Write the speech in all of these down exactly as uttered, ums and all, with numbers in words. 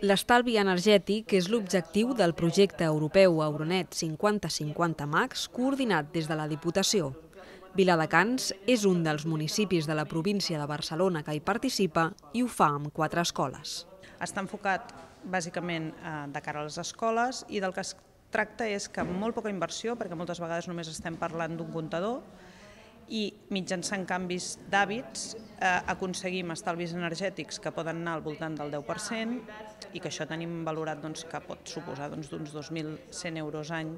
L'estalvi energètic és l'objectiu del projecte europeu Euronet cinquanta cinquanta Max coordinat des de la Diputació. Viladecans és un dels municipis de la província de Barcelona que hi participa i ho fa amb quatre escoles. Està enfocat bàsicament de cara a les escoles i del que es tracta és que amb molt poca inversió, perquè moltes vegades només estem parlant d'un comptador, i mitjançant canvis d'hàbits eh, aconseguim estalvis energètics que poden anar al voltant del deu per cent i que això tenim valorat doncs, que pot suposar doncs, d'uns dos mil cent euros any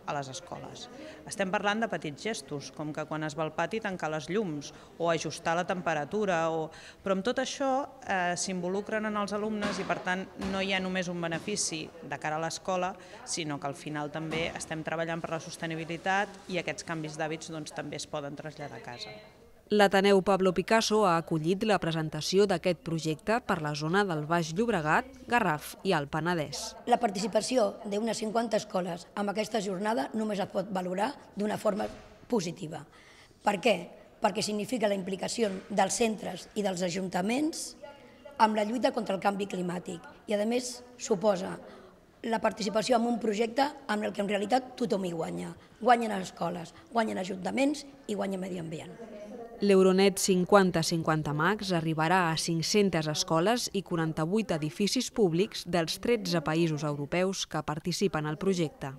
a les escoles. Estem parlant de petits gestos, com que quan es va al pati tancar les llums o ajustar la temperatura, o... però amb tot això eh, s'involucren en els alumnes i per tant no hi ha només un benefici de cara a l'escola, sinó que al final també estem treballant per la sostenibilitat i aquests canvis d'hàbits doncs, també es poden traslladar a casa. L'Ateneu Pablo Picasso ha acollit la presentació d'aquest projecte per la zona del Baix Llobregat, Garraf i el Penedès. La participació d'unes cinquanta escoles en aquesta jornada només es pot valorar d'una forma positiva. Per què? Perquè significa la implicació dels centres i dels ajuntaments amb la lluita contra el canvi climàtic i, a més, suposa la participació en un projecte amb el que en realitat tothom hi guanya. Guanyen les escoles, guanyen ajuntaments i guanya medi ambient. L'Euronet cinquanta cinquanta Max arribarà a cinc-centes escoles i quaranta-vuit edificis públics dels tretze països europeus que participen al projecte.